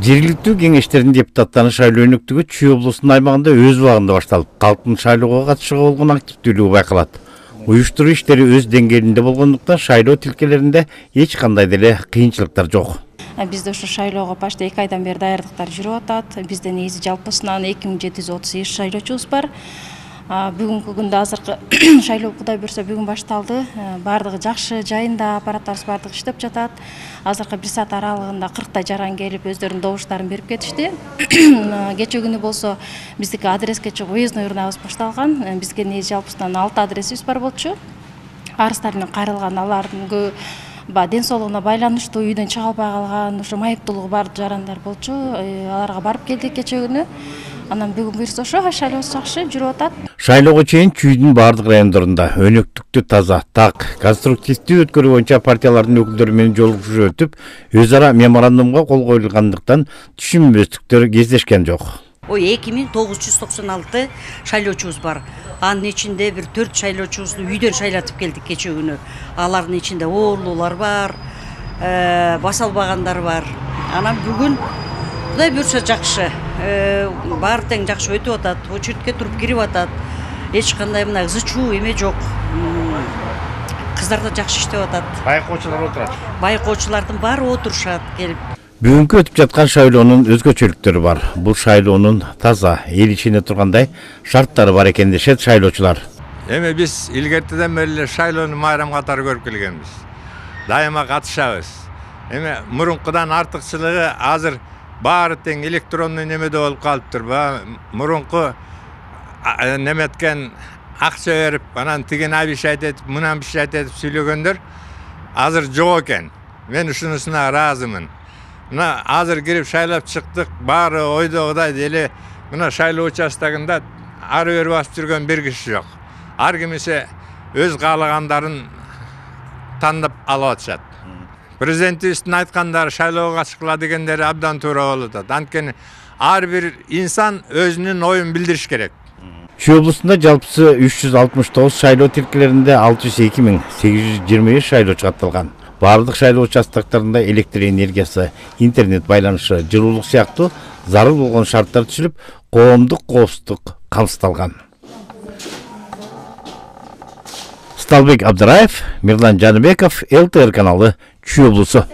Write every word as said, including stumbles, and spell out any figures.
Жергиликтүү кеңештердин депутаттарын шайлоо өнөктүгү Чүй облусунун аймагында өз убагында башталып, калктын шайлоого катышууга болгон активдүүлүгү байкалат. Уюштуруу иштери өз деңгээлинде болгондуктан шайлоо тилкелеринде эч кандай деле кыйынчылыктар жок. Бизде ушу шайлоого башта эки айдан бери даярдыктар жүрүп атат. Бизде негизи жалпысынан эки миң жети жүз отуз сегиз шайлоочубуз бар. Бүгүнкү күндө азыркы шайлоо Кудай буйрса бүгүн башталды. Бардыгы жакшы, жайында, аппараттарыбыз бардыгы иштеп жатат. Азыркы бир саат аралыгында кырктай жаран келип өздөрүнүн добуштарын берип кетишти. Кечээ күнү болсо биздики адреске чыгып уездной урнабыз башталган. Бизге негизи жалпысынан алты адресибиз бар болчу. Арыздар менен кайрылган, алардын көбү ден соолугуна байланыштуу, үйдөн чыга албай калган, ошо майыптуулугу бар жарандар болчу. Аларга барып келдик кечээ күнү. Анан бүгүн буйрса ошо шайлообуз жакшы жүрүп атат. Шайлоого чейин Чүйдүн бардык райондорунда өнөктүктүү таза, так, конструктивдүү өткөрүү боюнча партиялардын өкүлдөрү менен жолугушуу өтүп, өз ара меморандумга кол коюлгандыктан түшүнбөстүктөр кездешкен жок. Ой, эки миң тогуз жүз токсон алты шайлоочубуз бар. Анын ичинде бир төрт шайлоочубузду үйдөн шайлатып келдик кечээ күнү. Алардын ичинде оорулуулар бар, баса албагандар бар. Анан бүгүн Кудай буйрса жакшы, баары тең жакшы өтүп атат, очередке туруп кирип атат. Эч кандай мына ызы-чуу эме жок. Кыздар да жакшы иштеп атат. Байкоочулар отурат. Байкоочулардын баары отурушат келип. Бүгүнкү өтүп жаткан шайлоонун өзгөчөлүктөрү бар. Бул шайлоонун таза, эл ичинде тургандай шарттары бар экен дешет шайлоочулар. Эми биз илгертеден бери шайлоону майрам катары көрүп келгенбиз. Дайыма катышабыз. Эми мурункудан артыкчылыгы азыр баары тең электронный немеде болуп калыптыр. Мурунку неметкен акча берип, анан тиген абишайт этип, мынан бишайт этип сүйлөгөндөр азыр жок экен. Мен ушунусуна ыраазымын. Мына азыр кирип шайлап чыктык, баары ойдогудай эле мына шайлоо участогунда ары бери басып жүргөн бир киши жок. Ар кимисе өз каалагандарын тандап алып атышат. Президентибиздин айткандары шайлоого катышкыла дегендери абдан туура болуп атат. Анткени ар бир инсан өзүнүн оюн билдириш керек. Чүй облусунда жалпысы үч жүз алтымыш тогуз шайлоо тилкелеринде алты жүз эки миң сегиз жүз жыйырма беш шайлоочу катталган. Бардык шайлоо участоктарында электр энергиясы, интернет байланышы, жылуулук сыяктуу зарыл болгон шарттар түзүлүп, коомдук коопсуздук камсыздалган. Сталбек Абдыраев, Мирлан Жаныбеков, эл тэ эр каналы, Чүй облусу.